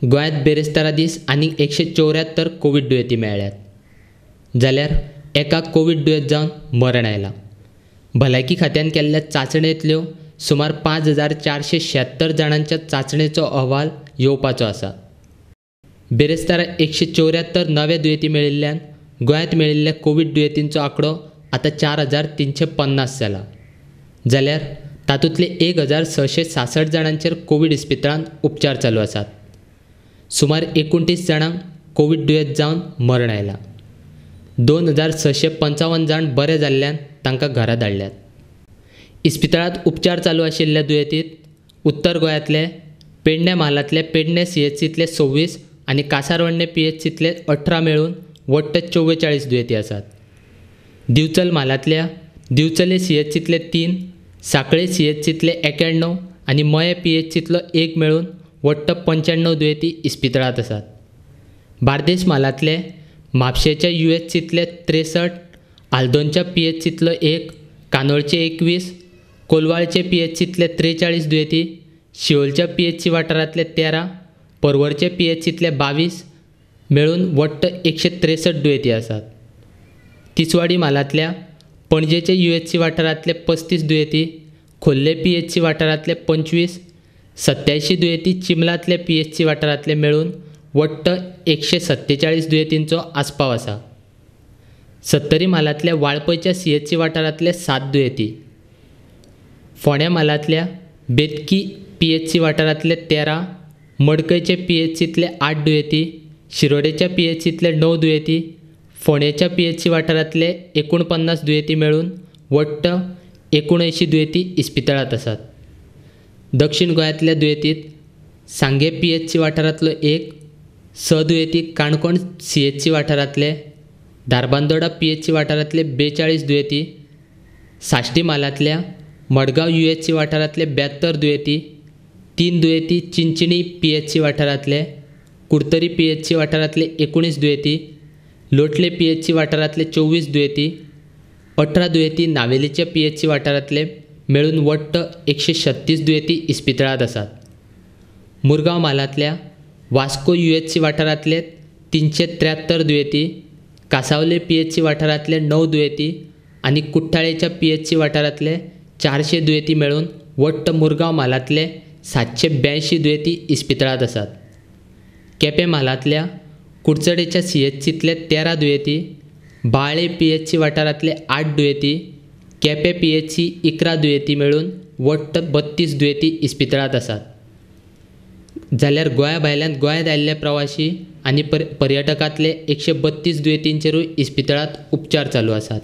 गोंयांत बिरेस्तारा दीस आनीक 174 कोवीड दुयेंती मेळ्ळ्यात, जाल्यार एका कोवीड दुयेंत जावन मरण आयलां. भलायकी खात्यान केल्ल्या चांचणेंतल्यो सुमार 5476 जाणांच्या चांचणेचो अहवाल येवपाचो आसा. बिरेस्तारा 174 नवे दुयेंती मेळिल्ल्यान गोंयांत मेळिल्ल्या कोवीड दुयेंतींचो आंकडो आतां 4350 जाला. जाल्यार तातूंतले 1666 जाणांचेर कोवीड इस्पितळांत उपचार चालू आसात. सुमार 29 जाणांक कोवीड दुयेंत जावन मरण आयलां. 2655 जाण बरे जाल्ल्यान तांकां घरा धाडल्यात. इस्पितळांत उपचार चालू आशिल्ल्या दुयेंतीत उत्तर गोंयांतले पेडणे म्हालांतले पेडणे सीएचसींतले 26 आनी कासारवर्णे पीएचसींतले 18 मेळून वट्ट 44 दुयेंती आसात. दिवचल म्हालांतल्या दिवचले सीएचसींतले 3, सांखळे सीएचसींतले 91 आनी मये पीएचसींतलो 1 मेळून वट्ट 95 दुयेंती इस्पितळांत आसात. बार्देस म्हालांतले म्हापशेंच्या युएचसींतले 63, आल्दोनच्या पीएचसींतलो 1, कानोळचे 21, कोलवाळचे पीएचसींतले 43 दुयेंती, शिवोलच्या पीएचसी वाठारांतले 13, पर्वरचे पीएचसींतले 22 मेळून वट्ट 163 दुयेंती आसात. तिसवाडी म्हालांतल्या पणजेचे युएचसी वाठारांतले 35 दुयेंती, खोर्ले पीएचसी वाठारांतले 25, 87 दुयेंती चिमलांतले पीएचसी वाठारांतले मेळून वट्ट 147 दुयेंतींचो आस्पाव आसा. सत्तरी म्हालांतल्या वाळपयच्या सीएचसी वाठारांतले 7 दुयेंती, फोंड्या म्हालांतल्या बेतकी पीएचसी वाठारांतले 13, मडकयचे पीएचसींतले 8 दुयेंती, शिरोडेच्या पीएचसींतले 9 दुयेंती, फोंडेच्या पीएचसी वाठारांतले 49 दुयेंती मेळून वट्ट 79 दुयेंती इस्पितळांत आसात. दक्षिण गोंयांतल्या दुयेंतीत सांगे पीएचसी वाठारांतलो 1, 6 दुयेंती काणकोण सीएचसी वाठारांतले, धारबांदोडा पीएचसी वाठारांतले 42 दुयेंती, साश्टी म्हालांतल्या मडगांव युएचसी वाठारांतले 72 दुयेंती, 3 दुयेंती चिंचणी पीएचसी वाठारांतले, कुडतरी पीएचसी वाठारांतले 19 दुयेंती, लोटले पीएचसी वाठारांतले 24 दुयेंती, 18 दुयेंती नावेलीच्या पीएचसी वाठारांतले मेळून वट्ट 136 दुयेंती इस्पितळांत आसात. मुरगांव म्हालांतल्या वास्को युएचसी वाठारांतले 373 दुयेंती, कासावले पीएचसी वाठारांतले 9 दुयेंती आनी कुठ्ठाळेच्या पीएचसी वाठारांतले 400 दुयेंती मेळून वट्ट मुरगांव म्हालांतले 782 दुयेंती इस्पितळांत आसात. केपें म्हालांतल्या कुडचडेच्या सीएचसींतले 13 दुयेंती, बाळे पीएचसी वाठारांतले 8 दुयेंती, केपें पीएचसी 11 दुयेंती मेळून वट्ट 32 दुयेंती इस्पितळांत आसात. जाल्यार गोंया भायल्यान गोंयांत आयिल्ले प्रवाशी आनी पर्यटकांतले 132 दुयेंतींचेरूय इस्पितळांत उपचार चालू आसात.